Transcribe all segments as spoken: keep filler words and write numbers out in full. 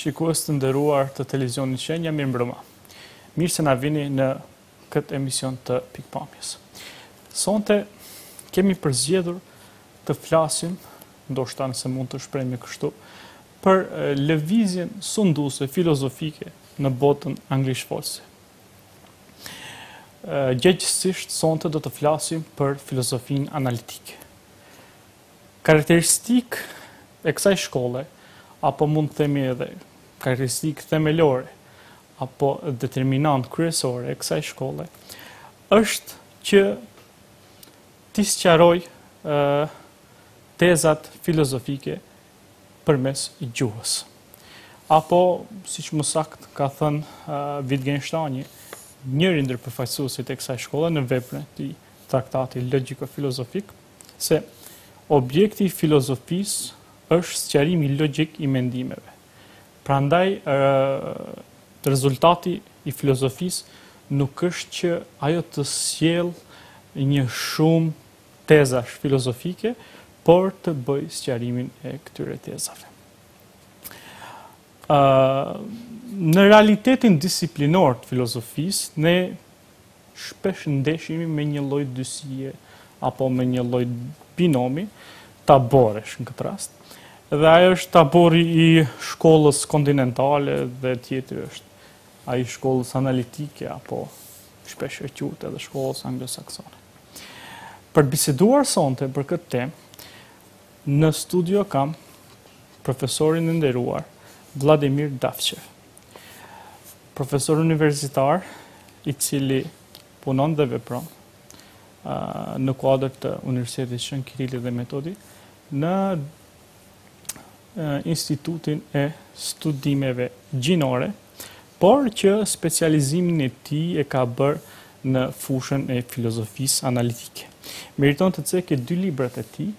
shikues të nderuar të televizionit Shenja, mirë mbrëma. Mirë se na vini në këtë emision të Pikpamjes. Sonte kemi përzgjedhur të flasim, ndoshta nëse mund të shprehemi kështu, për lëvizjen sunduese filozofike në botën anglishfolse. Gjegjësisht sonte do të flasim për filozofinë analitike. Karakteristikë e kësaj shkolle, apo mund të themi edhe karakteristikë themelore, apo determinant kryesore e kësaj shkolle, është që t'i sqaroj tezat filozofike përmes gjuhës. Apo, siç më saktë ka thënë Wittgensteini, njëri ndër përfaqësuesit e kësaj shkolle në veprën e tij traktati logjiko-filozofik, se objekti i filozofisë është sqarimi logjik i mendimeve. Prandaj, rezultati i filozofisë nuk është që ajo të sjellë një shumë tezash filozofike, por të bëj sqarimin e këtyre tezave. Në realitetin disiplinor të filozofisë, ne shpesh ndeshemi me një lloj dysie apo me një lloj binomi taboresh në këtë rast. Dhe ajo është tabori i shkollës kontinentale dhe tjetri është ai i shkollës analitike apo shpesh e quhet edhe shkollës anglosaksone. Për të biseduar sonte për këtë temë, në studio kam profesorin e nderuar Vladimir Davçev, profesor universitar i cili punon dhe vepron në kuadër të Universitetit Shën Kirili dhe Metodi në Institutin e Studimeve Gjinore, por që specializimin e tij e ka bërë në fushën e filozofisë analitike. Meriton të cekë dy librat e tij,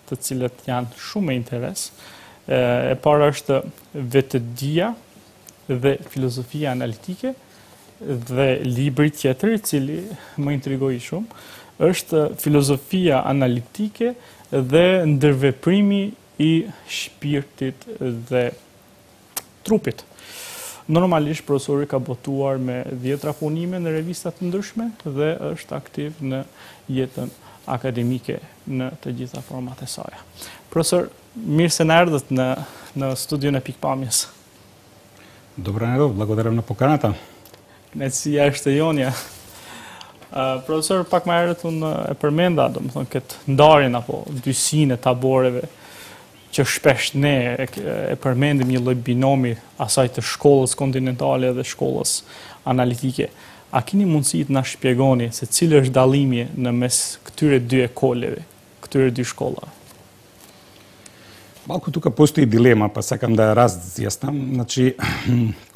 të cilët janë shumë me interes. E para është Vetëdia dhe Filozofia Analitike, dhe libri tjetër i cili më intrigoi shumë është Filozofia Analitike dhe ndërveprimi i shpirtit dhe trupit. Normalisht profesori ka botuar me dhjetra punime në revista të ndryshme dhe është aktiv në jetën akademike në të gjitha format e saj. Profesor, mirë se na erdhët në në studion e Pikpamjes. Добро најдов, благодарам на поканата. Kënaqësia është e jonja. Uh, profesor, pak më herët unë e përmenda, domethënë këtë ndarjen apo dysinë e taboreve që shpesh ne e, e përmendim një lloj binomi asaj të shkollës kontinentale dhe shkollës analitike. A keni mundësi të na shpjegoni se cili është dallimi në mes këtyre dy ekoleve, këtyre dy shkollave? Малку тука постои дилема, па сакам да ја разјаснам. Значи,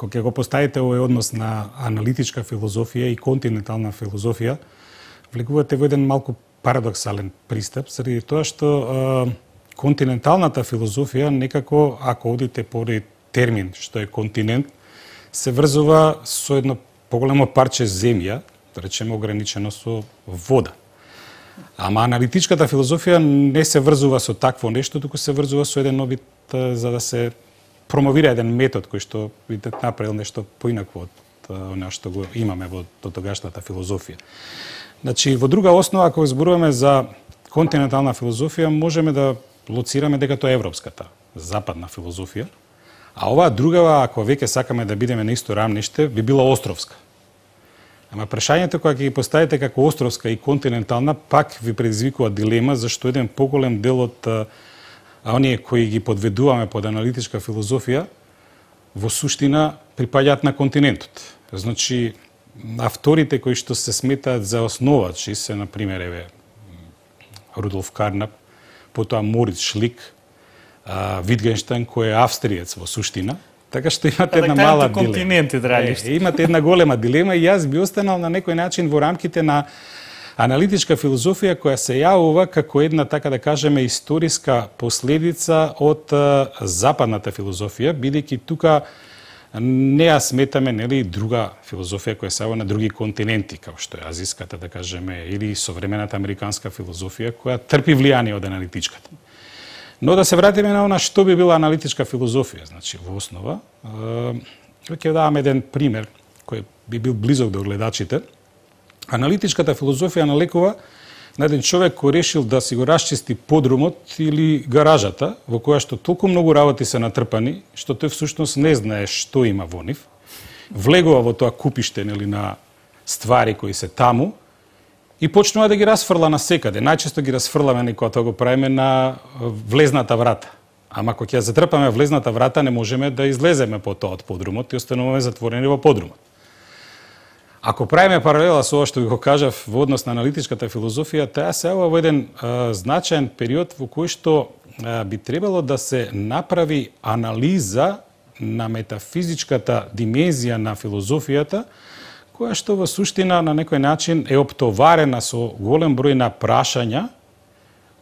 кога го поставите овој однос на аналитичка филозофија и континентална филозофија, влегувате во еден малку парадоксален пристап, заради тоа што е, континенталната филозофија некако, ако одите поради термин што е континент, се врзува со едно поголемо парче земја, да речеме ограничено со вода. Ама аналитичката филозофија не се врзува со такво нешто, туку се врзува со еден обид за да се промовира еден метод кој што видите направил нешто поинакво од она што го имаме во дотогашната филозофија. Значи, во друга основа, ако зборуваме за континентална филозофија, можеме да лоцираме дека тоа е европската, западна филозофија, а оваа другава, ако веќе сакаме да бидеме на исто рамниште, би била островска. Ама прашањето кога ќе ги поставите како островска и континентална, пак ви предизвикува дилема, зашто еден поголем дел од а, оние кои ги подведуваме под аналитичка филозофија, во суштина припаѓаат на континентот. Значи, авторите кои што се сметаат за основачи се, например, еве, Рудолф Карнап, потоа Мориц Шлик, Wittgenstein, кој е австриец во суштина. Така што имате една мала дилема. Е, имате една голема дилема и јас би останал на некој начин во рамките на аналитичка филозофија која се јавува како една, така да кажеме, историска последица од западната филозофија, бидејќи тука не ја сметаме, нели, друга филозофија која се јавува на други континенти, како што е азиската, да кажеме, или современата американска филозофија која трпи влијание од аналитичката. Но да се вратиме на она што би била аналитичка филозофија, значи во основа, ќе давам еден пример кој би бил близок до гледачите. Аналитичката филозофија налекува на еден човек кој решил да си го расчисти подрумот или гаражата, во која што толку многу работи се натрпани, што тој всушност не знае што има во нив. Влегува во тоа купиште, нели, на ствари кои се таму и почнува да ги расфрла на секаде. Најчесто ги расфрламе кога тоа го правиме на влезната врата. Ама кога ќе затрпаме влезната врата, не можеме да излеземе по тоа од подрумот и остануваме затворени во подрумот. Ако правиме паралела со ова што ви го кажав во однос на аналитичката филозофија, таа се ова во еден а, значаен период во кој што а, би требало да се направи анализа на метафизичката димензија на филозофијата, која што во суштина на некој начин е оптоварена со голем број на прашања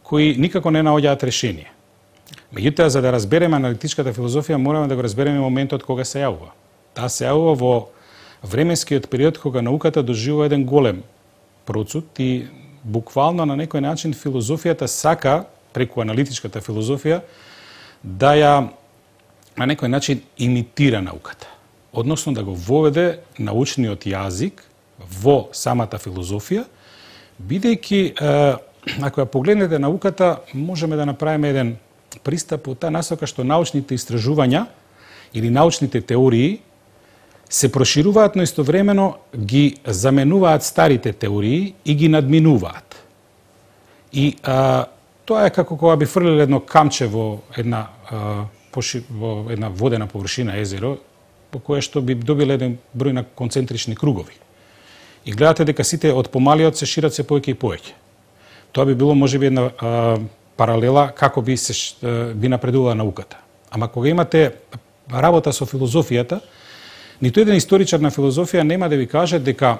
кои никако не наоѓаат решение. Меѓутоа, за да разбереме аналитичката филозофија, мораме да го разбереме моментот кога се јавува. Таа се јавува во временскиот период кога науката доживува еден голем процут и буквално на некој начин филозофијата сака, преку аналитичката филозофија, да ја на некој начин имитира науката. Односно да го воведе научниот јазик во самата филозофија, бидејќи, ако ја погледнете науката, можеме да направиме еден пристап од таа насока што научните истражувања или научните теории се прошируваат, но истовремено ги заменуваат старите теории и ги надминуваат. И а, тоа е како кога би фрлиле едно камче во една, а, поши, во една водена површина, езеро, по кое што би добиле еден број на концентрични кругови. И гледате дека сите од помалиот се шират се повеќе и повеќе. Тоа би било можеби една а, паралела како би се би напредувала науката. Ама кога имате работа со филозофијата, ниту еден историчар на филозофија нема да ви каже дека,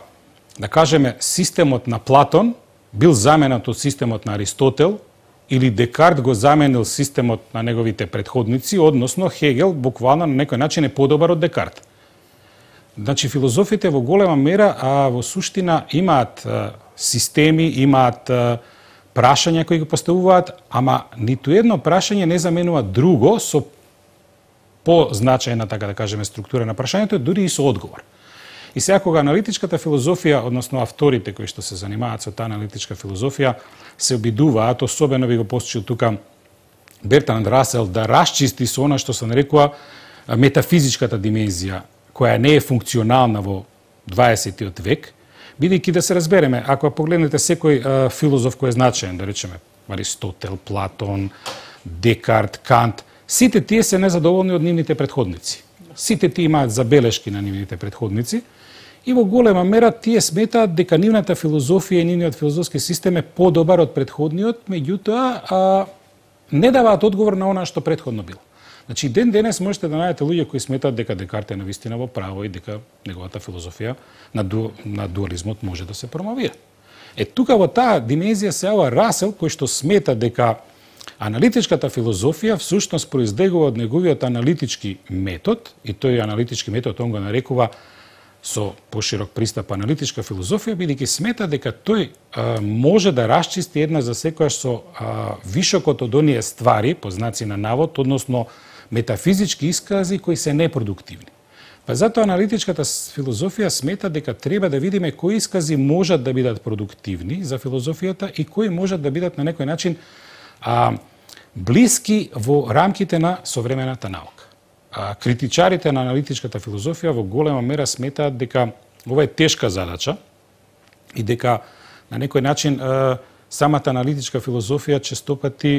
да кажеме, системот на Платон бил заменат од системот на Аристотел или Декарт го заменил системот на неговите предходници, односно Хегел буквално на некој начин е подобар од Декарт. Значи, филозофите во голема мера, а во суштина имаат а, системи, имаат а, прашања кои го поставуваат, ама ниту едно прашање не заменува друго со позначајна, така да кажеме, структура на прашањето, дури и со одговор. И сега кога аналитичката филозофија, односно авторите кои што се занимаваат со таа аналитичка филозофија, се обидуваат, особено ви го посочил тука Бертранд Расел, да расчисти со она што се нарекува метафизичката димензија, која не е функционална во дваесеттиот век, бидејќи да се разбереме, ако погледнете секој а, филозоф кој е значаен, да речеме Аристотел, Платон, Декарт, Кант, сите тие се незадоволни од нивните предходници. Сите тие имаат забелешки на нивните предходници и во голема мера тие сметаат дека нивната филозофија и нивниот филозофски систем е подобар од предходниот, меѓутоа а, не даваат одговор на она што предходно било. Значи, ден денес можете да најдете луѓе кои сметаат дека Декарт е навистина во право и дека неговата филозофија на, ду, на дуализмот може да се промовира. Е, тука во таа димензија се јава Расел, кој што смета дека аналитичката филозофија всушност произлегува од неговиот аналитички метод, и тој аналитички метод он го нарекува со поширок пристап аналитичка филозофија, бидејќи смета дека тој а, може да расчисти една за секоја со а, вишокот од оние ствари, по знаци на навод, односно метафизички искази кои се непродуктивни. Па затоа аналитичката филозофија смета дека треба да видиме кои искази можат да бидат продуктивни за филозофијата и кои можат да бидат на некој начин а, блиски во рамките на современата наука. А, критичарите на аналитичката филозофија во голема мера сметаат дека ова е тешка задача и дека на некој начин а, самата аналитичка филозофија честопати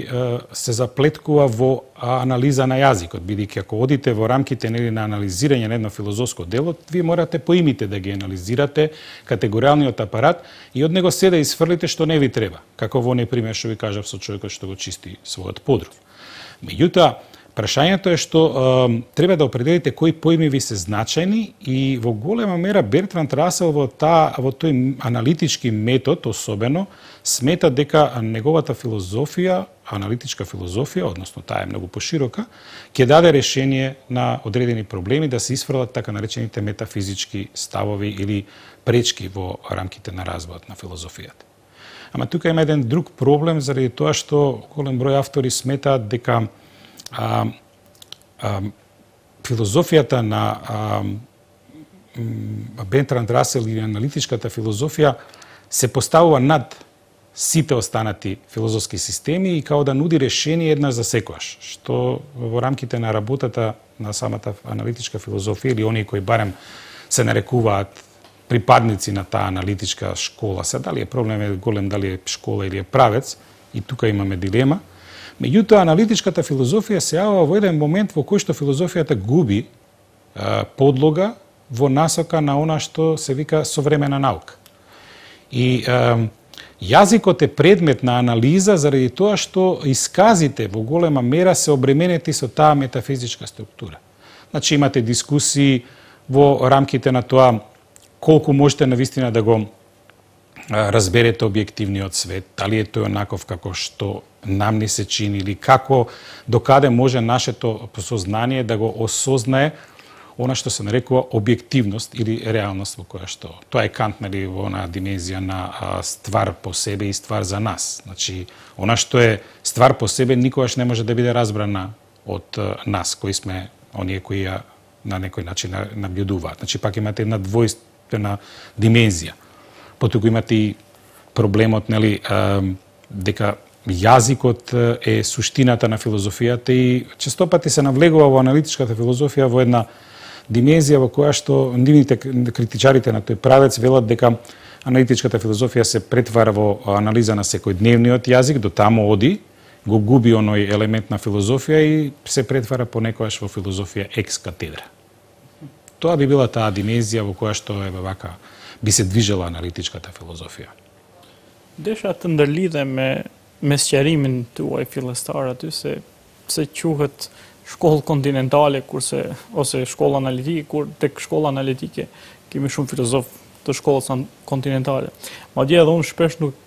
се заплеткува во анализа на јазикот, бидејќи ако одите во рамките нели на анализирање на едно филозофско дело, вие морате поимите да ги анализирате категоријалниот апарат и од него се да изфрлите што не ви треба, како во оној пример што ви кажав со човекот што го чисти својот подров. Меѓутоа, прашањето е што е, треба да определите кои поими ви се значајни и во голема мера Бертранд Расел во таа во тој аналитички метод особено смета дека неговата филозофија, аналитичка филозофија, односно таа е многу поширока, ќе даде решение на одредени проблеми да се исфрлат така наречените метафизички ставови или пречки во рамките на развојот на филозофијата. Ама тука има еден друг проблем заради тоа што голем број автори сметаат дека а, а, филозофијата на а, Бертранд Расел или аналитичката филозофија се поставува над сите останати филозофски системи и као да нуди решение еднаш за секојаш, што во рамките на работата на самата аналитичка филозофија или оние кои барем се нарекуваат припадници на таа аналитичка школа, се дали е проблем е голем, дали е школа или е правец, и тука имаме дилема. Меѓутоа, аналитичката филозофија се јавува во еден момент во кој што филозофијата губи а, подлога во насока на она што се вика современа наука. И а, јазикот е предмет на анализа заради тоа што исказите во голема мера се обременети со таа метафизичка структура. Значи имате дискусии во рамките на тоа колку можете навистина да го разберете објективниот свет, дали е тој онаков како што нам ни се чини или како докаде може нашето сознание да го осознае она што се нарекува објективност или реалност во која што тоа е Кант, нели, во она димензија на а, ствар по себе и ствар за нас. Значи, она што е ствар по себе никогаш не може да биде разбрана од а, нас кои сме оние кои ја на некој начин наблюдуваат. Значи, пак имате една двојствена димензија. Потоа имате и проблемот, нели, а, дека јазикот е суштината на филозофијата и честопати се навлегува во аналитичката филозофија во една димензија во која што нивните критичарите на тој правец велат дека аналитичката филозофија се претвара во анализа на секојдневниот јазик, до таму оди, го губи оној елемент на филозофија и се претвара понекогаш во филозофија екс катедра. Тоа би била таа димензија во која што е вака би се движела аналитичката филозофија. Desha të ndërlidhe me me sqarimin tuaj fillestar aty se se quhet shkollë kontinentale kurse ose shkolla analitike, kur tek shkolla analitike kemi shumë filozof të shkollës kontinentale. Madje edhe unë shpesh nuk,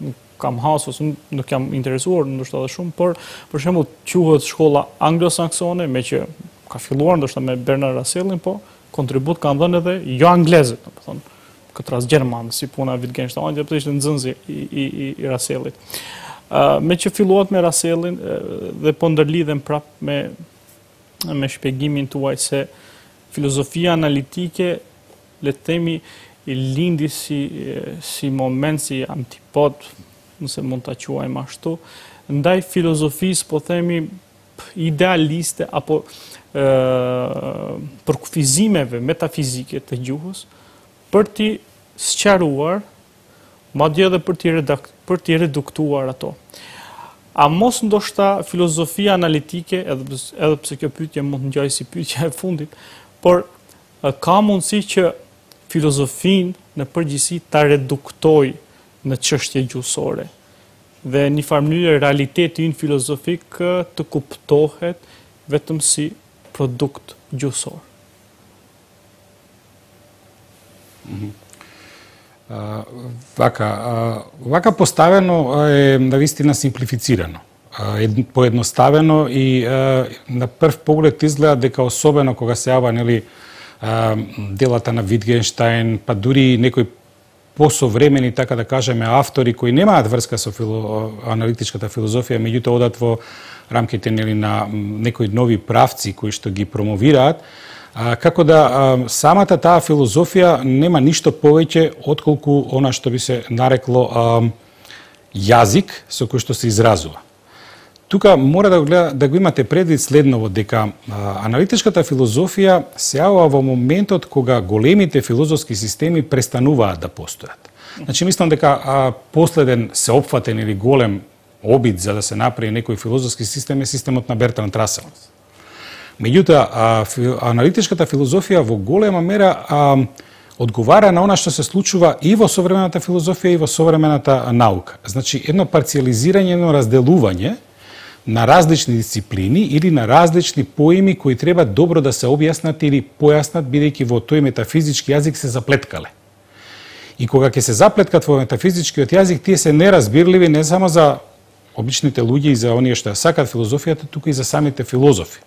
nuk kam hasur, ose nuk jam interesuar ndoshta edhe shumë, por për shembull quhet shkolla anglosaksone, me që ka filluar ndoshta me Bernard Russellin, po kontribut kanë dhënë edhe jo anglezët, domethënë këtë rast gjerman, si puna Wittgenstein, dhe ishte nxënësi i, i, i, i Russellit. Uh, me që filluat me Russellin uh, dhe po ndërlidhem prap me, me shpjegimin tuaj se filozofia analitike, le të themi, i lindi si, si moment, si antipod, nëse mund ta quajmë ashtu, ndaj filozofisë, po themi, idealiste apo uh, përkufizimeve metafizike të gjuhës, për t'i sqaruar, madje edhe për t'i redakt, për t'i reduktuar ato. A mos ndoshta filozofia analitike, edhe, edhe pse kjo pyetje mund të ngjajë si pyetja e fundit, por ka mundësi që filozofin në përgjithësi ta reduktoj në çështje gjuhësore dhe në një farë mënyrë realiteti ynë filozofik të kuptohet vetëm si produkt gjuhësor. Mm-hmm. Uh, вака, uh, вака поставено е навистина симплифицирано, uh, поедноставено и uh, на прв поглед изгледа дека особено кога се јава, нели, uh, делата на Wittgenstein, па дури некои посовремени, така да кажеме, автори кои немаат врска со фило, аналитичката филозофија, меѓутоа одат во рамките, нели, на некои нови правци кои што ги промовираат, А, како да а, самата таа филозофија нема ништо повеќе отколку она што би се нарекло а, јазик со кој што се изразува. Тука мора да го, гледа, да го имате предвид следново, дека а, аналитичката филозофија се јавува во моментот кога големите филозофски системи престануваат да постојат. Значи, мислам дека а, последен сеопфатен или голем обид за да се направи некој филозофски систем е системот на Бертранд Расел. Меѓутоа, аналитичката филозофија во голема мера а, одговара на она што се случува и во современата филозофија и во современата наука. Значи, едно парциализирање, едно разделување на различни дисциплини или на различни поими кои треба добро да се објаснат или појаснат, бидејќи во тој метафизички јазик се заплеткале. И кога ќе се заплеткат во метафизичкиот јазик, тие се неразбирливи не само за обичните луѓе и за оние што ја сакат филозофијата, туку и за самите филозофи.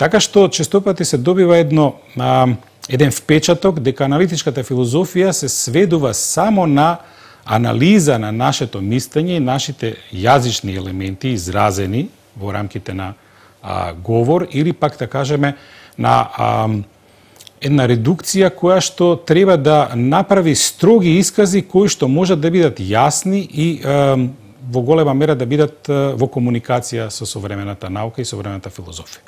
Така што честопати се добива едно, а, еден впечаток дека аналитичката филозофија се сведува само на анализа на нашето мислење и нашите јазични елементи изразени во рамките на а, говор или пак да кажеме на а, една редукција која што треба да направи строги искази кои што можат да бидат јасни и а, во голема мера да бидат а, во комуникација со современата наука и современата филозофија.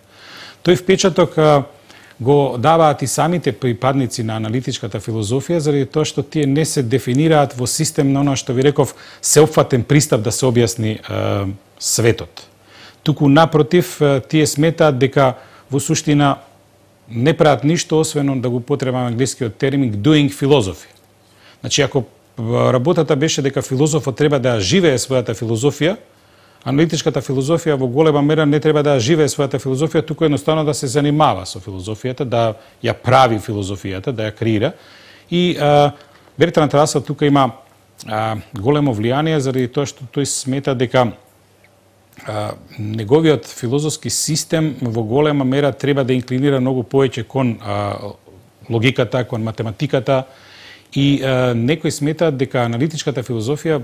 Тој впечаток а, го даваат и самите припадници на аналитичката филозофија, заради тоа што тие не се дефинираат во систем на оно што ви реков сеопфатен пристап да се објасни е, светот. Туку напротив, тие сметаат дека во суштина не прават ништо освен да го потребам англискиот термин doing philosophy. Значи, ако работата беше дека филозофот треба да живее својата филозофија, аналитичката филозофија во голема мера не треба да живее својата филозофија, туку едноставно да се занимава со филозофијата, да ја прави филозофијата, да ја креира. И а, Бертранд Расел тука има а, големо влијание заради тоа што тој смета дека а, неговиот филозофски систем во голема мера треба да инклинира многу повеќе кон а, логиката, кон математиката и а, некои сметаат дека аналитичката филозофија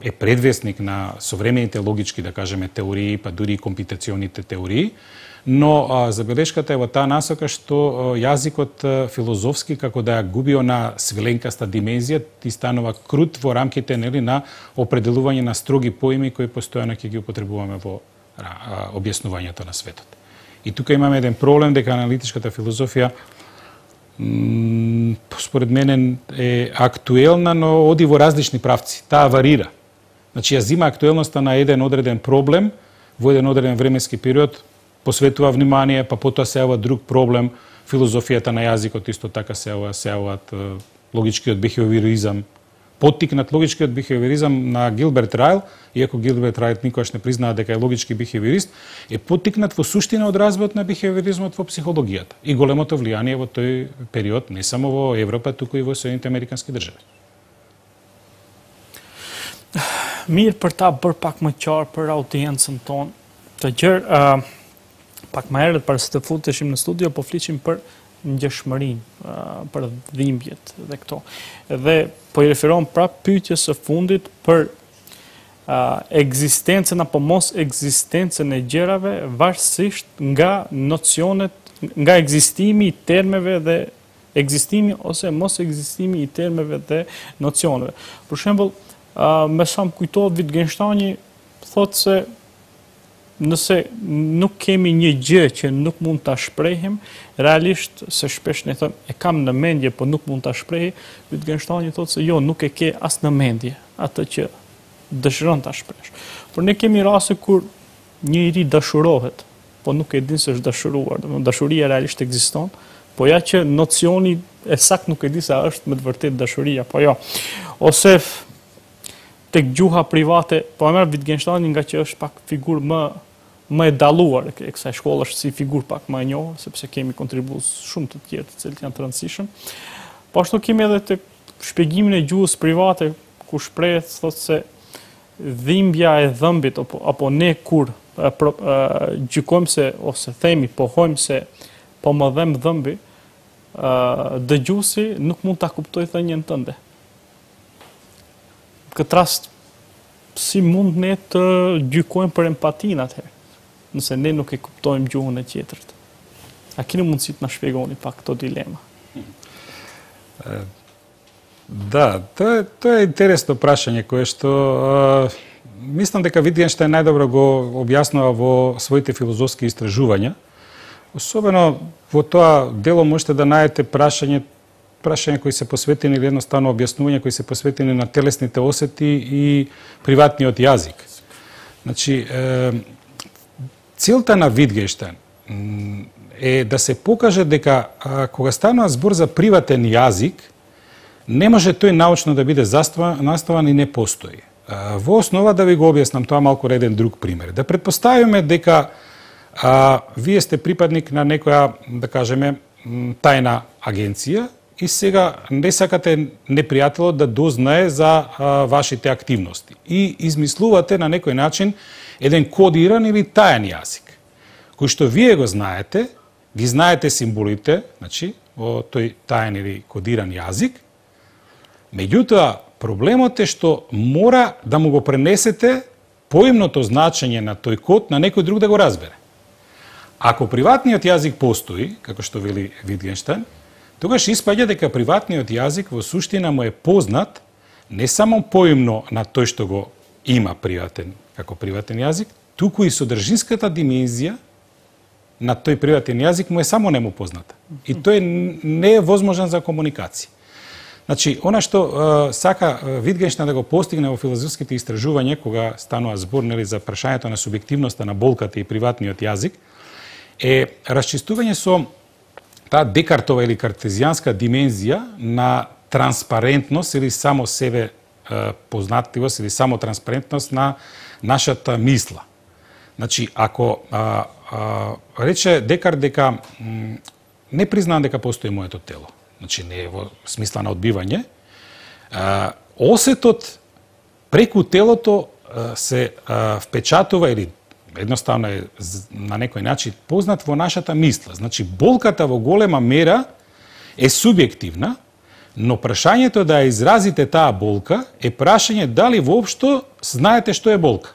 е предвесник на современите логички, да кажеме, теории, па дури и компутационите теории, но а, забелешката е во таа насока што а, јазикот а, филозофски, како да ја губи на свиленкаста димензија, ти станува крут во рамките нели, на определување на строги поими кои постојано ќе ги употребуваме во а, објаснувањето на светот. И тука имаме еден проблем дека аналитичката филозофија м, според мене е актуелна, но оди во различни правци. Таа варира. Значи, ја зима актуелноста на еден одреден проблем во еден одреден временски период, посветува внимание, па потоа се јавува друг проблем, филозофијата на јазикот исто така се јавува, се јавуваат логичкиот бихевиоризам, поттикнат логичкиот бихевиоризам на Гилберт Райл, иако Гилберт Райл никогаш не признава дека е логички бихевиорист, е поттикнат во суштина од развојот на бихевиоризмот во психологијата и големото влијание во тој период не само во Европа, туку и во Соединените Американски држави. Mirë për ta bërë pak më qarë për audiencën tonë, të gjërë, uh, pak më herët para se të futeshim në studio, po fliqim për ngjeshmërinë, uh, për dhimbjet dhe këto. Dhe po i referohem prapë pyetjes së fundit për uh, ekzistencën apo mos ekzistencën e gjërave varësisht nga nocionet, nga ekzistimi i termeve dhe ekzistimi ose mos ekzistimi i termeve dhe nocioneve. Për shembull, Uh, me sa më kujtohet Wittgensteini thotë se nëse nuk kemi një gjë që nuk mund ta shprehim, realisht se shpesh ne them e kam në mendje, po nuk mund ta shprehi, Wittgensteini thotë se jo, nuk e ke as në mendje atë që dëshiron ta shpresh. Por ne kemi raste kur njëri dashurohet, po nuk e din se është dashuruar. Dashuria realisht ekziston, po ja që nocioni e sakt nuk e di se është me të vërtetë dashuria, po jo. Ose tek gjuha private, po e merr Wittgensteini nga që është pak figurë më më e dalluar e kësaj shkolle, është si figurë pak më e njohur, sepse kemi kontribues shumë të tjerë të cilët janë të rëndësishëm. Po ashtu kemi edhe tek shpjegimin e gjuhës private, ku shprehet thotë se dhimbja e dhëmbit apo apo ne kur e, pro, e, gjykojmë se ose themi, pohojmë se po më dhem dhëmbi, dëgjuesi nuk mund ta kuptojë thënien tënde. Këtë rast, si mund ne të gjykojmë për empatinë atëherë, nëse ne nuk e kuptojmë gjuhën e tjetrit? A keni mundësi të na shpjegoni pak këto dilema? Да, тоа е тоа е интересно прашање кое што uh, мислам дека Wittgenstein најдобро го објаснува во своите филозофски истражувања. Особено во тоа дело можете да најдете прашање прашања кои се посветени или едноставно објаснувања кои се посветени на телесните осети и приватниот јазик. Значи, е, целта на Wittgenstein е да се покаже дека а, кога станува збор за приватен јазик, не може тој научно да биде наставан и не постои. А, во основа да ви го објаснам тоа малку еден друг пример. Да претпоставиме дека а, вие сте припадник на некоја, да кажеме, тајна агенција, и сега не сакате непријателот да дознае за а, вашите активности. И измислувате на некој начин еден кодиран или тајан јазик, кој што вие го знаете, ги знаете символите, значи, во тој тајан или кодиран јазик, меѓутоа, Проблемот е што мора да му го пренесете поимното значење на тој код на некој друг да го разбере. Ако приватниот јазик постои, како што вели Витгенштајн, тогаш испаѓа дека приватниот јазик во суштина му е познат не само поимно на тој што го има приватен како приватен јазик, туку и содржинската димензија на тој приватен јазик му е само нему позната. И тој не е возможен за комуникација. Значи, она што е, сака Витгенштајн да го постигне во филозофските истражувања, кога станува збор нели за прашањето на субјективноста на болката и приватниот јазик, е расчистување со таа Декартова или картезијанска димензија на транспарентност или само себе е, познатливост или само транспарентност на нашата мисла. Значи, ако а, а, рече Декарт дека м, не признавам дека постои моето тело, значи не е во смисла на одбивање, а, осетот преку телото а, се а, впечатува или едноставно е на некој начин познат во нашата мисла. Значи, болката во голема мера е субјективна, но прашањето да ја изразите таа болка е прашање дали воопшто знаете што е болка.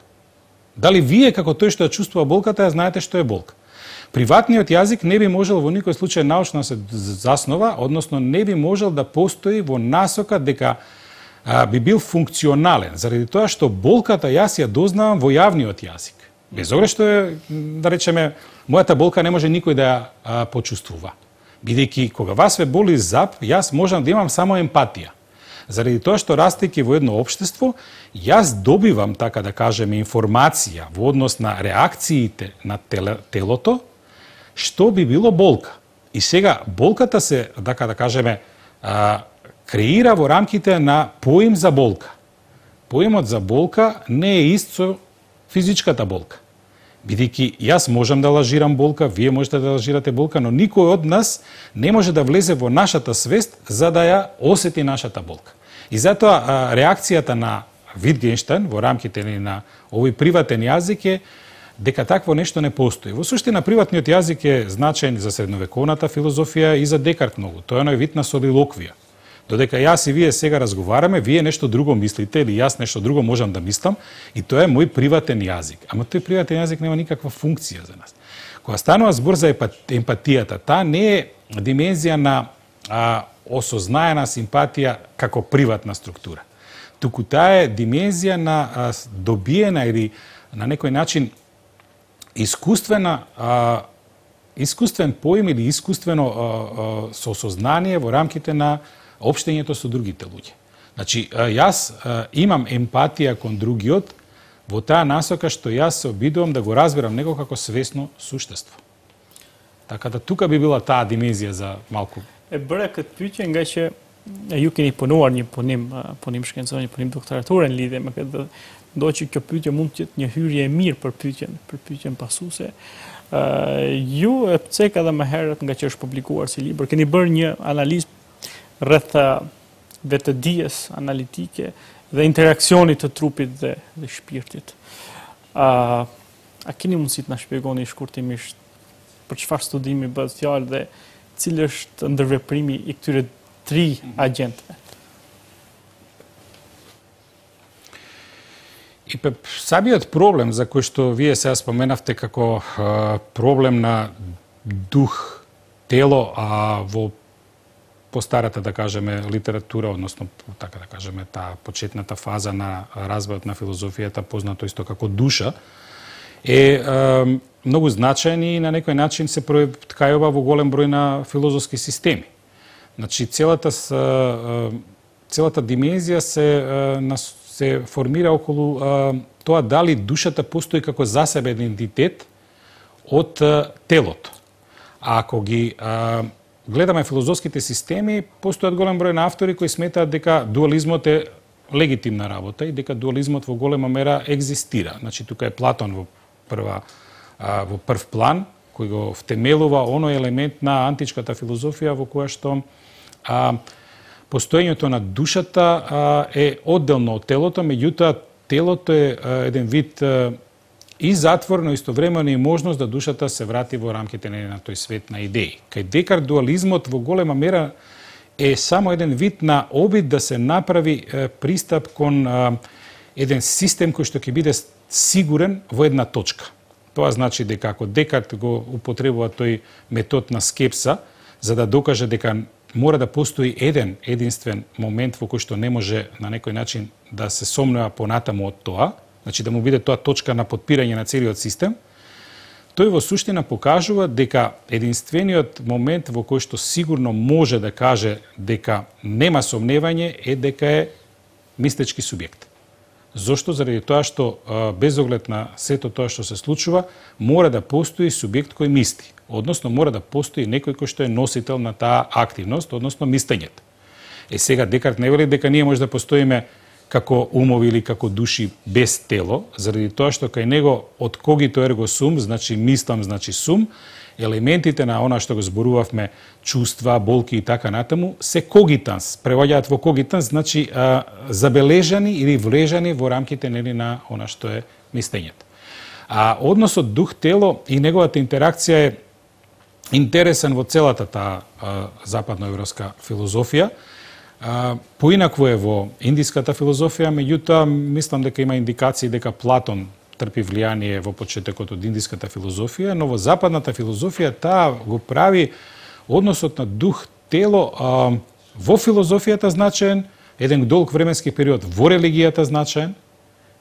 Дали вие, како тој што ја чувствува болката, ја знаете што е болка. Приватниот јазик не би можел во никој случај научно се заснова, односно не би можел да постои во насока дека а, би бил функционален, заради тоа што болката јас ја дознавам во јавниот јазик. Без обзира што е, да речеме, мојата болка не може никој да ја а, почувствува. Бидејќи кога вас ве боли зап, јас можам да имам само емпатија. Заради тоа што растејќи во едно општество, јас добивам, така да кажеме, информација во однос на реакциите на телото, што би било болка. И сега болката се, така да кажеме, а, креира во рамките на поим за болка. Поимот за болка не е ист со физичката болка. Бидејќи јас можам да лажирам болка, вие можете да лажирате болка, но никој од нас не може да влезе во нашата свест за да ја осети нашата болка. И затоа реакцијата на Витгенштајн во рамките на овој приватен јазик е дека такво нешто не постои. Во суштина приватниот јазик е значаен за средновековната филозофија и за Декарт многу. Тоа е оној вид на солилоквија. Додека јас и вие сега разговараме, вие нешто друго мислите или јас нешто друго можам да мислам и тоа е мој приватен јазик. Ама тој приватен јазик нема никаква функција за нас. Кога станува збор за емпатијата, таа не е димензија на а, осознаена симпатија како приватна структура. Туку таа е димензија на а, добиена или на некој начин искуствена а, искуствен поим или искуствено а, а, соосознание во рамките на општењето со другите луѓе. Значи, јас а, имам емпатија кон другиот во таа насока што јас се обидувам да го разберам него како свесно суштество. Така да тука би била таа димензија за малку. E bëre këtë pyetje nga që ju keni punuar një punim, punim shkencor, një punim doktorator në lidhje me këtë. Do që kjo pyetje mund të jetë një hyrje e mirë për pyetjen, për pyetjen pasuese. Uh, ju e pcek edhe më herët nga që është publikuar si libër, keni bërë një analizë rreth vetëdijes analitike dhe interaksionit të trupit dhe, dhe shpirtit. Uh, a keni mundësi të na shpjegoni shkurtimisht për çfarë studimi bëhet fjalë dhe cili është ndërveprimi i këtyre tri agjentëve? И самиот проблем за кој што вие сега споменавте како а, проблем на дух, тело, а во постарата, да кажеме, литература, односно, така да кажеме, таа почетната фаза на развојот на филозофијата, познато исто како душа, е а, многу значаен и на некој начин се проткајува во голем број на филозофски системи. Значи, целата, целата димензија се, се формира околу а, тоа дали душата постои како засебен идентитет од а, телото. А ако ги а, гледаме филозофските системи, постојат голем број на автори кои сметаат дека дуализмот е легитимна работа и дека дуализмот во голема мера екзистира. Значи, тука е Платон во прва во прв план, кој го втемелува оној елемент на античката филозофија во која што а, постоењето на душата а, е одделно од телото, меѓутоа телото е а, еден вид а, и затвор, но истовремено и можност да душата се врати во рамките на тој свет на идеи. Кај Декарт дуализмот во голема мера е само еден вид на обид да се направи е, пристап кон е, еден систем кој што ќе биде сигурен во една точка. Тоа значи дека ако Декарт го употребува тој метод на скепса, за да докаже дека мора да постои еден единствен момент во кој што не може на некој начин да се сомнува понатаму од тоа, значи да му биде тоа точка на потпирање на целиот систем, тој во суштина покажува дека единствениот момент во кој што сигурно може да каже дека нема сомневање е дека е мислечки субјект. Зошто? Заради тоа што без оглед на сето тоа што се случува, мора да постои субјект кој мисли, односно мора да постои некој кој што е носител на таа активност, односно мислењето. Е сега Декарт не вели дека ние може да постоиме како умови или како души без тело, заради тоа што кај него од когито ерго сум, значи мислам, значи сум, елементите на она што го зборувавме, чувства, болки и така натаму, се когитанс, преваѓаат во когитанс, значи а, забележани или влежани во рамките нели на она што е мислењето. А односот дух-тело и неговата интеракција е интересен во целата таа западноевропска филозофија. А, поинакво е во индиската филозофија, меѓутоа мислам дека има индикации дека Платон трпи влијание во почетокот од индиската филозофија, но во западната филозофија таа го прави односот на дух-тело а, во филозофијата значаен, еден долг временски период во религијата значаен,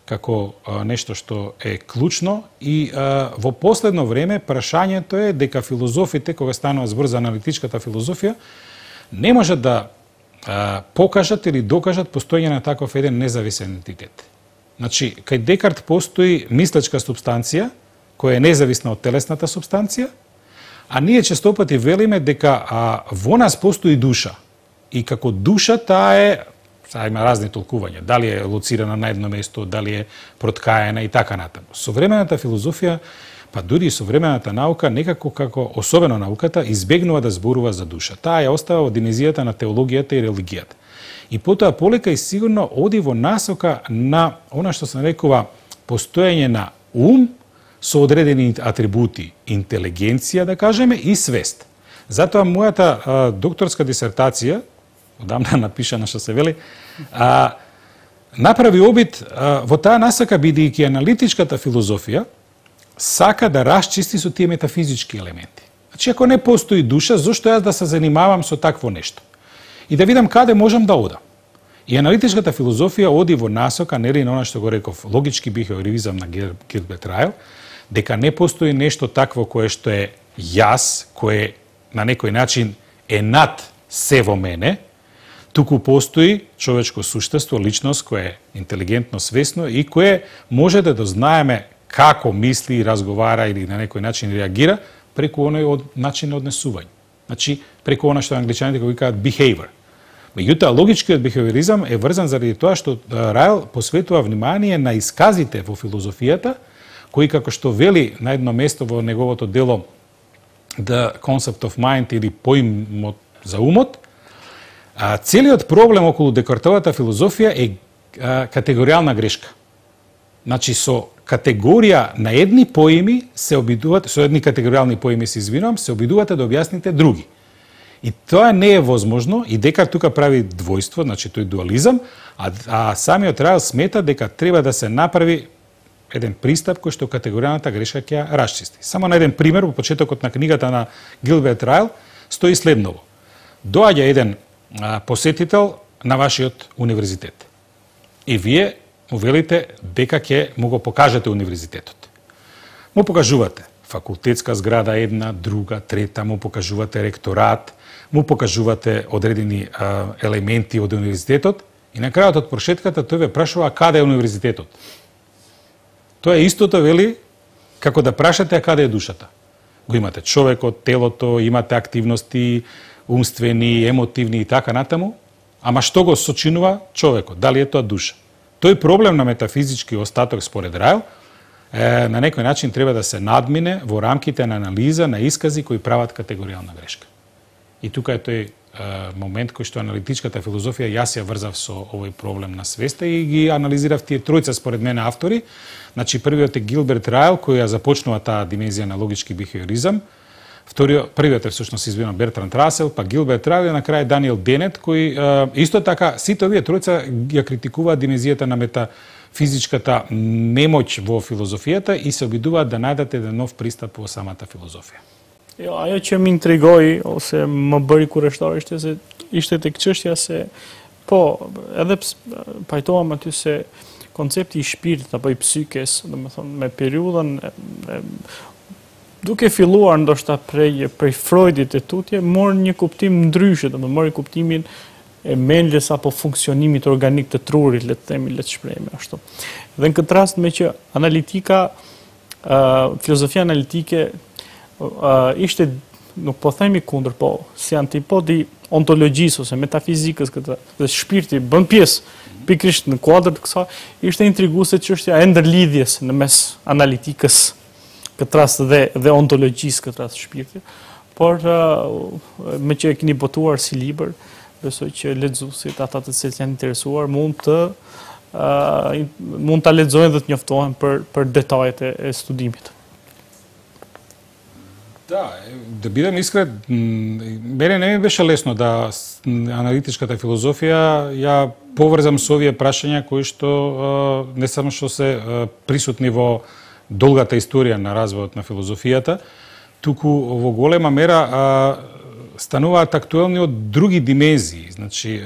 како а, нешто што е клучно и а, во последно време прашањето е дека филозофите, кога станува збор за аналитичката филозофија, не можат да а, покажат или докажат постоење на таков еден независен ентитет. Значи, кај Декарт постои мислечка субстанција, која е независна од телесната субстанција, а ние честопати велиме дека а, во нас постои душа. И како душа таа е, сега има разни толкувања, дали е лоцирана на едно место, дали е проткаена и така натаму. Современата филозофија, па дури и современата наука, некако како, особено науката, избегнува да зборува за душа. Таа ја остава во димenzијата на теологијата и религијата. И потоа полека и сигурно оди во насока на она што се нарекува постоење на ум со одредени атрибути, интелигенција, да кажеме, и свест. Затоа мојата а, докторска дисертација, одамна напишана што се вели, а, направи обид а, во таа насока, бидејќи аналитичката филозофија сака да расчисти со тие метафизички елементи. Значи, ако не постои душа, зошто јас да се занимавам со такво нешто? И да видам каде можам да одам. И аналитичката филозофија оди во насока, нели на она што го реков, логички бихеоризам на Гилберт Райл, дека не постои нешто такво кое што е јас, кое на некој начин е над се во мене, туку постои човечко суштество, личност која е интелигентно, свесно и кое може да дознаеме како мисли, разговара или на некој начин реагира преку оној од начин на однесување. Значи, преку она што англичаните го викаат behavior. Меѓутоа, логичкиот бихеоризам е врзан заради тоа што Райл посветува внимание на исказите во филозофијата, кои, како што вели на едно место во неговото дело The Concept of Mind или поимот за умот, целиот проблем околу Декартовата филозофија е категоријална грешка. Значи, со категорија на едни поими се обидувате, со едни категоријални поими се извинувам, се обидувате да објасните други. И тоа не е возможно, и Декарт тука прави двојство, значи тој дуализам, а, а самиот Райл смета дека треба да се направи еден пристап кој што категоријалната грешка ќе ја расчисти. Само на еден пример, во почетокот на книгата на Гилберт Райл, стои следново. Доаѓа еден а, посетител на вашиот универзитет. И вие му велите дека ќе му го покажете универзитетот. Му покажувате факултетска зграда една, друга, трета, му покажувате ректорат, му покажувате одредени а, елементи од универзитетот и на крајот од прошетката тој ве прашува каде е универзитетот. Тоа е истото, вели, како да прашате а каде е душата. Го имате човекот, телото, имате активности, умствени, емотивни и така натаму, ама што го сочинува човекот? Дали е тоа душа? Тој проблем на метафизички остаток според Райл е, на некој начин треба да се надмине во рамките на анализа на искази кои прават категоријална грешка. И тука е тој е, момент кој што аналитичката филозофија јас ја врзав со овој проблем на свеста и ги анализирав тие тројца според мене автори. Значи првиот е Гилберт Райл кој ја започнува таа димензија на логички бихеоризам. Вториот, првиот е всушност извинам Бертранд Расел, па Гилберт Райли, на крај Даниел Денет, кои исто така сите овие тројца ја критикуваат димензијата на метафизичката немоќ во филозофијата и се обидуваат да најдат еден нов пристап во самата филозофија. Jo, ajo që më intrigoi ose më bëri kurreshtar ishte se ishte tek çështja se po, edhe pajtoam aty se koncepti i shpirtit apo i psykes, domethënë me periudhën duke filluar ndoshta prej prej Freudit e tutje, mor një kuptim ndryshe, domethënë mori kuptimin e mendjes apo funksionimit organik të trurit, le të themi, le të shprehemi ashtu. Dhe në këtë rast me që analitika, uh, filozofia analitike uh, ishte, nuk po themi kundër, po si antipodi ontologjisë ose metafizikës këtë, dhe shpirti bën pjesë pikrisht në kuadër të kësaj, ishte intriguese çështja e ndërlidhjes në mes analitikës këtë rast dhe, dhe ontologjisë këtë rast shpirtit, por uh, me që e keni botuar si libër, besoj që lexuesit, ata të cilët janë interesuar, mund të uh, mund ta lexojnë dhe të njoftohen për për detajet e, e studimit. Да, да бидам искрен, мене не ми беше лесно да аналитичката филозофија ја поврзам со овие прашања кои што не само што се присутни во долгата историја на развојот на филозофијата, туку во голема мера стануваат актуелни од други димензии. Значи,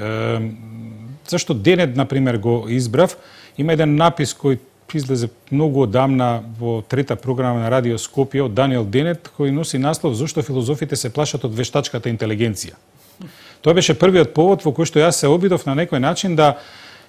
зашто Денет, например, го избрав, има еден напис кој излезе многу одамна во трета програма на Радио Скопје од Даниел Денет, кој носи наслов "Зошто филозофите се плашат од вештачката интелигенција". Тоа беше првиот повод во кој што јас се обидов на некој начин да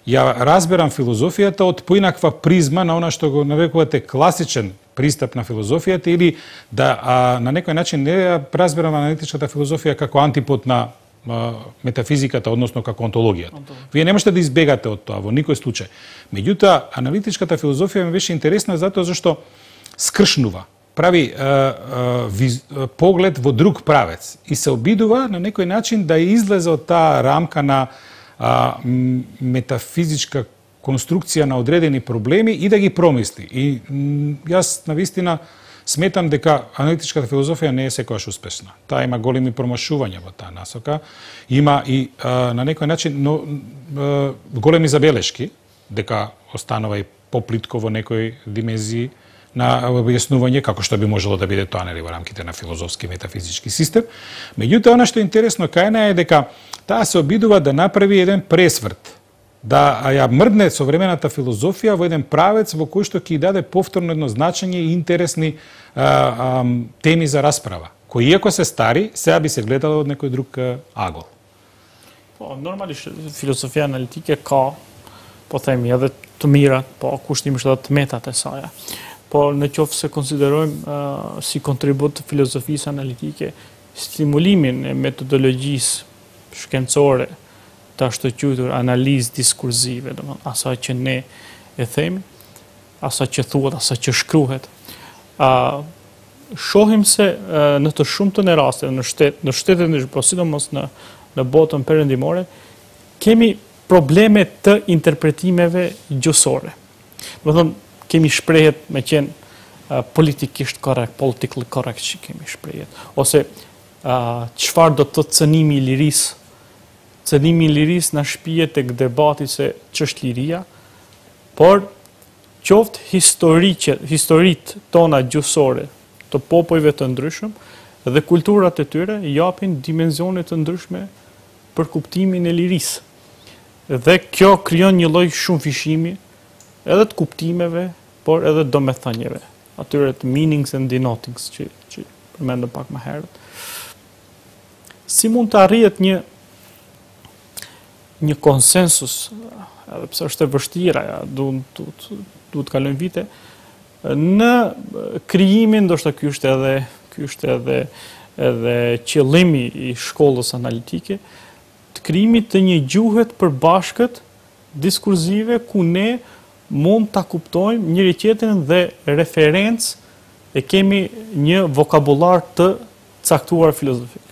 ја разберам филозофијата од поинаква призма на она што го нарекувате класичен пристап на филозофијата или да а, на некој начин не ја разберам аналитичката филозофија како антипод на а, метафизиката, односно како онтологијата. Вие не можете да избегате од тоа во никој случај. Меѓутоа, аналитичката филозофија ми беше интересна затоа зашто скршнува, прави а, а, виз, а, поглед во друг правец и се обидува на некој начин да излезе од таа рамка на а, метафизичка конструкција на одредени проблеми и да ги промисли. И јас навистина сметам дека аналитичката филозофија не е секогаш успешна. Таа има големи промашувања во таа насока. Има и а, на некој начин но, а, големи забелешки дека останува и поплитко во некои димензии на објаснување како што би можело да биде тоа нели во рамките на филозофски метафизички систем. Меѓутоа, она што е интересно кај неа е дека таа се обидува да направи еден пресврт, да ја мрдне современата филозофија во еден правец во кој што ќе даде повторно едно значење и интересни а, а, теми за расправа, кои иако се стари, сега би се гледало од некој друг агол. Po, normalisht filozofia analitike ka, po themi, edhe të mirat, po kushtimisht edhe të metat e saj. Po në qoftë se konsiderojmë uh, si kontribut të filozofisë analitike stimulimin e metodologjisë shkencore të ashtu quajtur analizë diskursive, domethënë asaj që ne e themi, asaj që thuhet, asaj që shkruhet. Uh, shohim se uh, në të shumtën e rasteve në shtet, në shtetet në po sidomos në në botën perëndimore, kemi probleme të interpretimeve gjuhësore. Domethënë kemi shprehjet me qenë uh, politikisht korrekt, politically correct që kemi shprehjet. Ose uh, çfarë do të thotë cënimi i lirisë? Cënimi i lirisë na shpihet tek debati se ç'është liria, por qoftë historiqe, historitë tona gjuhësore të popujve të ndryshëm dhe kulturat e tyre japin dimensione të ndryshme për kuptimin e lirisë. Dhe kjo krijon një lloj shumëfishimi edhe të kuptimeve, por edhe domethënieve, atyre të meanings and denotings që, që përmendëm pak më herët. Si mund të arrihet një një konsensus, edhe pse është e vështira, ja, duhet du, du të kalojnë vite, në krijimin, ndoshta ky është edhe ky është edhe edhe qëllimi i shkollës analitike, të krijimit të një gjuhe të përbashkët diskursive ku ne mund ta kuptojmë njëri tjetrin dhe referencë e kemi një vokabular të caktuar filozofik.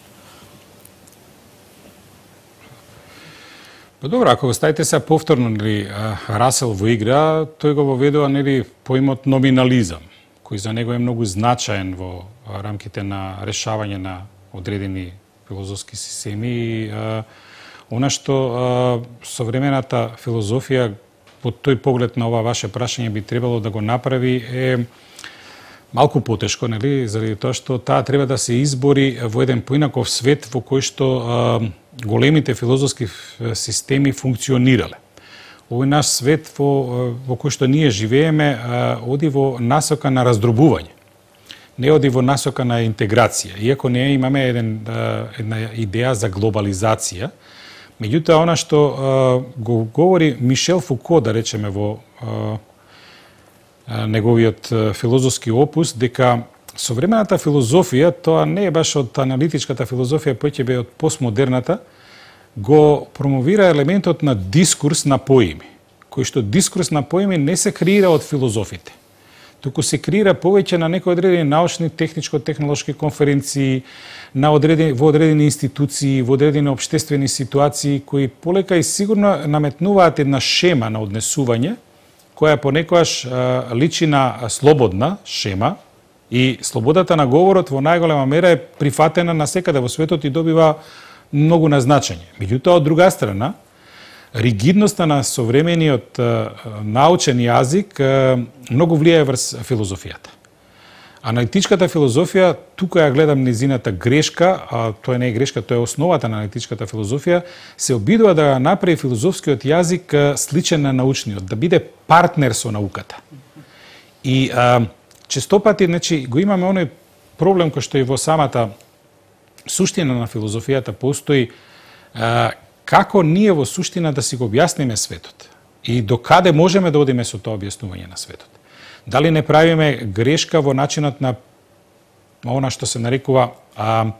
Па добро, ако го ставите се повторно нели Расел во игра, тој го воведува нели поимот номинализам, кој за него е многу значаен во рамките на решавање на одредени филозофски системи. Она што современата филозофија под тој поглед на ова ваше прашање би требало да го направи е малку потешко, нели, заради тоа што таа треба да се избори во еден поинаков свет во кој што а, големите филозофски системи функционирале. Овој наш свет во, во кој што ние живееме а, оди во насока на раздробување. Не оди во насока на интеграција. Иако ние имаме еден, а, една идеја за глобализација, меѓутоа она што а, го говори Мишел Фуко, да речеме, во а, неговиот филозофски опус, дека современата филозофија, тоа не е баш од аналитичката филозофија, поќе од постмодерната, го промовира елементот на дискурс на поими, кој што дискурс на поими не се креира од филозофите, туку се креира повеќе на некои одредени научни, техничко-технолошки конференции, на одредени, во одредени институции, во одредени општествени ситуации, кои полека и сигурно наметнуваат една шема на однесување, која понекогаш личи на слободна шема, и слободата на говорот во најголема мера е прифатена насекаде во светот и добива многу назначење. Меѓутоа, од друга страна, ригидноста на современиот научен јазик многу влијае врз филозофијата. Аналитичката филозофија, тука ја гледам незината грешка, а тоа не е грешка, тоа е основата на аналитичката филозофија, се обидува да направи филозофскиот јазик сличен на научниот, да биде партнер со науката. И а, честопати, значи, го имаме оној проблем кој што и во самата суштина на филозофијата постои, а, како ние во суштина да си го објасниме светот и до каде можеме да одиме со тоа објаснување на светот. Дали не правиме грешка во начинот на она што се нарекува а,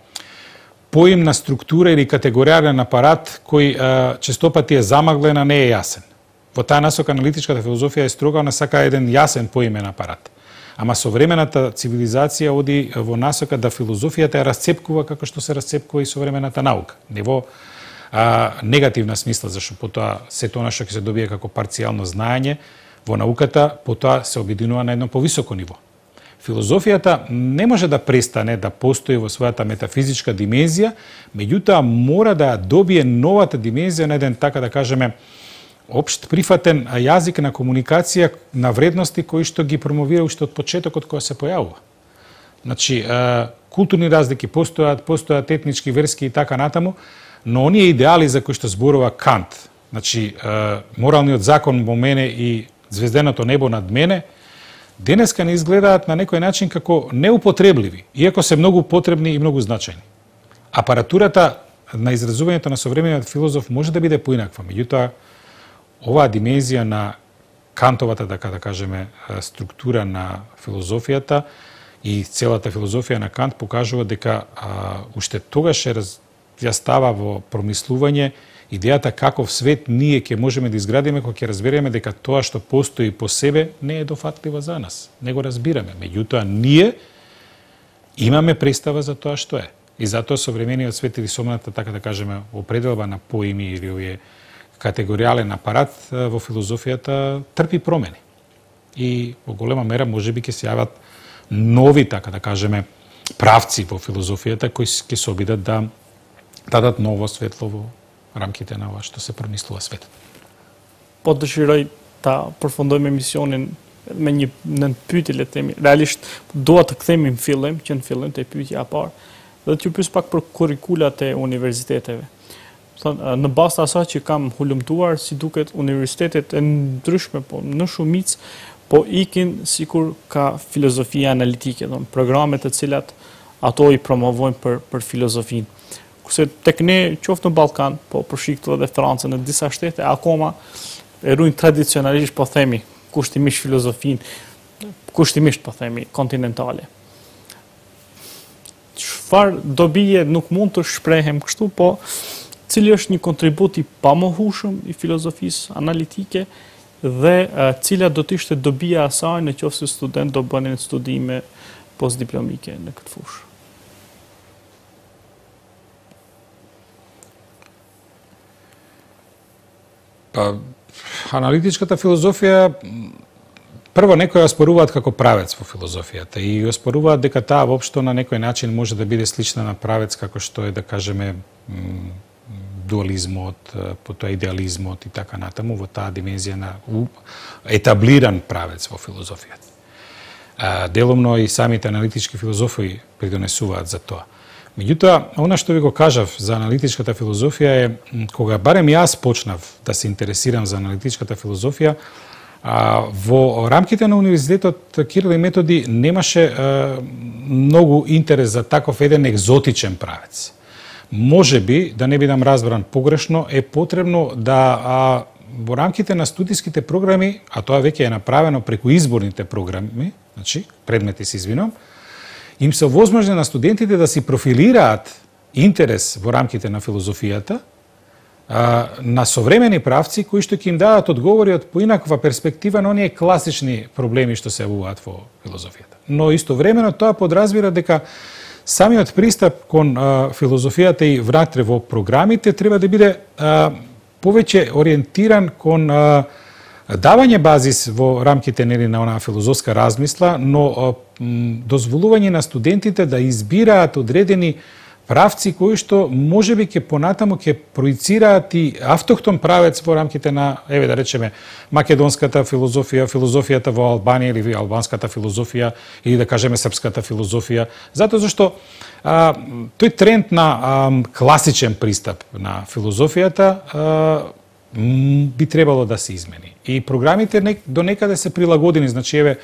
поимна структура или категоријален апарат кој а, честопати е замаглен, а не е јасен. Во таа насока аналитичката филозофија е строга, она сака еден јасен поимен апарат. Ама современата цивилизација оди во насока да филозофијата ја расцепкува како што се расцепкува и современата наука. Не во а, негативна смисла, зашто потоа сето она што ќе се добие како парцијално знаење во науката, потоа се обединува на едно повисоко ниво. Филозофијата не може да престане да постои во својата метафизичка димензија, меѓутоа мора да добие новата димензија на еден, така да кажеме, општ прифатен јазик на комуникација на вредности кои што ги промовира уште од почетокот кога се појавува. Значи, културни разлики постојат, постојат етнички, верски и така натаму, но оние идеали за кои што зборува Кант, значи, моралниот закон во мене и звезденото небо над мене, денеска не изгледаат на некој начин како неупотребливи, иако се многу потребни и многу значајни. Апаратурата на изразувањето на современиот филозоф може да биде поинаква, меѓутоа, оваа димензија на Кантовата, така да кажеме, структура на филозофијата и целата филозофија на Кант покажува дека а, уште тогаш е раз, ја става во промислување идејата каков свет ние ќе можеме да изградиме кога ќе разбереме дека тоа што постои по себе не е дофатливо за нас. Не го разбираме. Меѓутоа, ние имаме представа за тоа што е. И затоа современиот свет или современата, така да кажеме, определба на поими или овие категоријален апарат во филозофијата трпи промени. И во голема мера можеби ќе се јават нови, така да кажеме, правци во филозофијата кои ќе се обидат да дадат ново светло во рамките на ова што се промислува светот. Po dëshiroj ta përfundojmë emisionin me një në pyetje, le të themi. Realisht dua të kthemi në fillim, që në fillim te pyetja e parë, dhe t'ju pyes pak për kurrikulat e universiteteve. Thonë, në bazë të asaj që kam hulumtuar, si duket universitetet e ndryshme, po në shumicë po ikin sikur ka filozofia analitike, thonë programe të cilat ato i promovojnë për për filozofinë. Kurse tek ne, qoftë në Ballkan, po përshik edhe Francën, në disa shtete, akoma e ruajnë tradicionalisht, po themi, kushtimisht filozofinë, kushtimisht, po themi, kontinentale. Çfarë dobije nuk mund të shprehem kështu, po cili është një kontribut i pamohueshëm i filozofisë analitike dhe uh, cila do të ishte dobija e saj në qoftë se student do bënin studime postdiplomike në këtë fushë. Па, аналитичката филозофија прво некои ја споруваат како правец во филозофијата и ја споруваат дека таа воопшто на некој начин може да биде слична на правец како што е, да кажеме, дуализмот, потоа идеализмот и така натаму во таа димензија на етаблиран правец во филозофијата. Деломно и самите аналитички филозофи придонесуваат за тоа. Меѓутоа, она што ви го кажав за аналитичката филозофија е, кога барем јас почнав да се интересирам за аналитичката филозофија, во рамките на Универзитетот Кирил и Методи немаше многу интерес за таков еден екзотичен правец. Може би, да не бидам разбран погрешно, е потребно да а, во рамките на студиските програми, а тоа веќе е направено преку изборните програми, значи, предмети се извинувам, им се овозможни на студентите да си профилираат интерес во рамките на филозофијата а, на современи правци кои што ќе им дадат одговори од поинаква перспектива на оние класични проблеми што се јавуваат во филозофијата. Но истовремено тоа подразбира дека самиот пристап кон а, филозофијата и внатре во програмите треба да биде а, повеќе ориентиран кон а, давање базис во рамките нели на онаа филозофска размисла, но а, м, дозволување на студентите да избираат одредени правци кои што можеби ќе понатаму ќе проицираат и автохтон правец во рамките на, еве да речеме, македонската филозофија, филозофијата во Албанија или албанската филозофија или да кажеме српската филозофија, затоа зашто а, тој тренд на а, класичен пристап на филозофијата а, би требало да се измени. И програмите не, до некаде се прилагодени, значи еве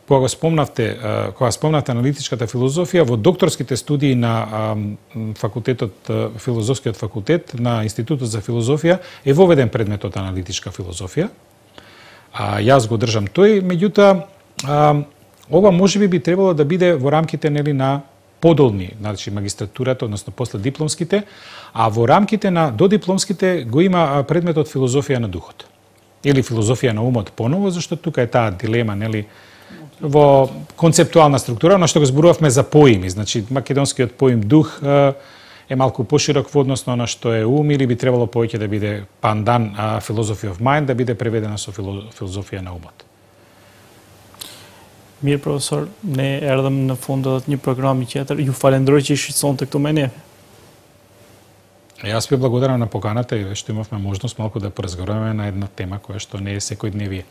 кога го спомнавте, кога спомнавте аналитичката филозофија, во докторските студии на факултетот, филозофскиот факултет на Институтот за филозофија е воведен предметот аналитичка филозофија. А јас го држам тој, меѓутоа ова можеби би требало да биде во рамките нели на подолни, значи магистратурата, односно после дипломските, а во рамките на додипломските го има предметот филозофија на духот или филозофија на умот поново, зашто тука е таа дилема, нели, во концептуална структура, но што го зборувавме за поими, значи македонскиот поим дух е малку поширок во однос на што е ум или би требало повеќе да биде пандан philosophy of mind, да биде преведена со филозофија на умот. Mirë, profesor, ne erdhëm në fund edhe një programi tjetër. Ju falenderoj që shqetësonte këtu me ne. Јас ви благодарам на поканата и што имавме можност малку да поразговараме на една тема која што не е секојдневие.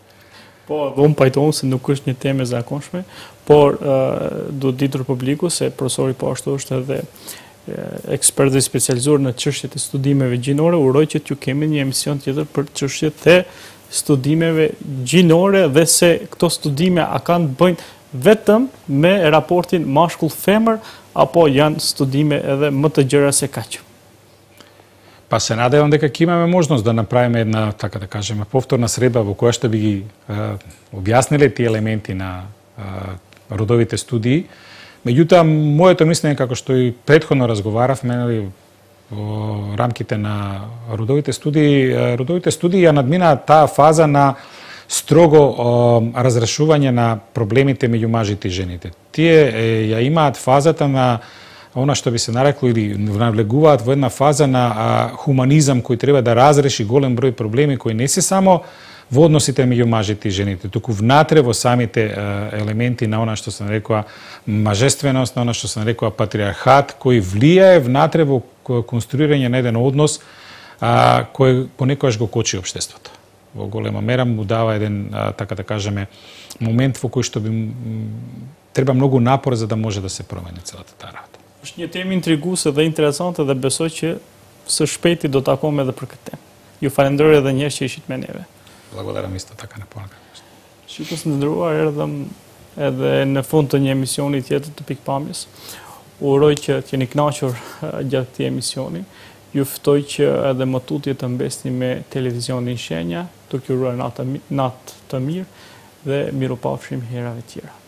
Po, unë pajtohem se nuk është një temë e zakonshme, por uh, do ditur publiku se profesori po ashtu është edhe ekspert dhe specializuar në çështjet e studimeve gjinore. Uroj që t'ju kemi një emision tjetër për çështjet e studimeve gjinore dhe se këto studime a kanë të bëjnë vetëm me raportin mashkull-femër apo janë studime edhe më të gjëra se kaq. Па се надевам дека ќе имаме можност да направиме една, така да кажеме, повторна средба во која што би ги е, објасниле тие елементи на е, родовите студии. Меѓутоа, моето мислење, како што и претходно разговаравме, нели, во рамките на родовите студии, родовите студии ја надминаат таа фаза на строго е, разрешување на проблемите меѓу мажите и жените. Тие е, ја имаат фазата на она што би се нарекло или навлегуваат во една фаза на а, хуманизам кој треба да разреши голем број проблеми кои не се само во односите меѓу мажите и жените, туку внатре во самите а, елементи на она што се нарекува мажественост, на она што се нарекува патриархат, кој влијае внатре во конструирање на еден однос а, кој понекогаш го кочи општеството. Во голема мера му дава еден, а, така да кажеме, момент во кој што би треба многу напор за да може да се промени целата таа работа. Është një temë intriguese dhe interesante dhe besoj që së shpejti do të takojmë edhe për këtë temë. Ju falenderoj edhe një herë që ishit me neve. Благодарам исто така на понакта. Shikues të nderuar, erdhëm edhe në fund të një emisioni tjetër të Pikpamjes. Uroj që të jeni kënaqur gjatë këtij emisioni. Ju ftoj që edhe më tutje të mbesni me televizionin Shenja, duke uruar natë natë të mirë dhe mirupafshim herave tjera.